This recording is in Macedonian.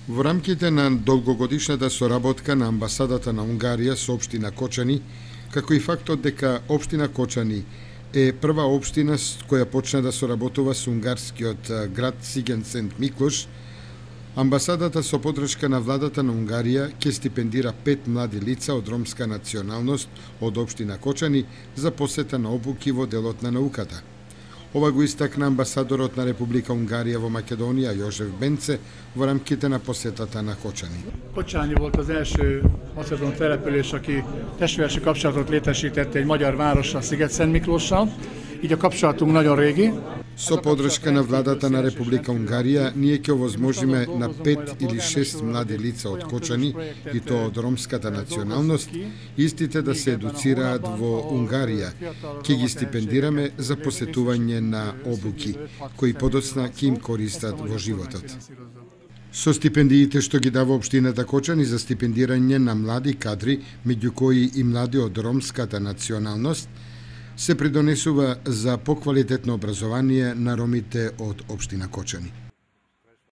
Во рамките на долгогодишната соработка на амбасадата на Унгарија со општина Кочани, како и фактот дека општина Кочани е прва општина која почна да соработува со унгарскиот град Сиген Сент Миклош, амбасадата со поддршка на владата на Унгарија ќе стипендира 5 млади лица од ромска националност од општина Кочани за посета на обуки во делот на науката. Ова го истакна амбасадорот на Република Унгарија во Македонија Јожеф Бенце во рамките на посетата на Kocani. Kocsányi volt az első macedón település, aki testvéresi kapcsolatot létesített egy magyar várossal, Sziget-Szent Miklóssal. Így a kapcsolatunk nagyon régi. Со поддршка на владата на Република Унгарија, ние ќе овозможиме на 5 или 6 млади лица од Кочани, и тоа од ромската националност, истите да се едуцираат во Унгарија. Ќе ги стипендираме за посетување на обуки, кои подоцна ќе им користат во животот. Со стипендиите што ги дава општината Кочани за стипендирање на млади кадри, меѓу кои и млади од ромската националност, се придонесува за поквалитетно образование на ромите од општина Кочани.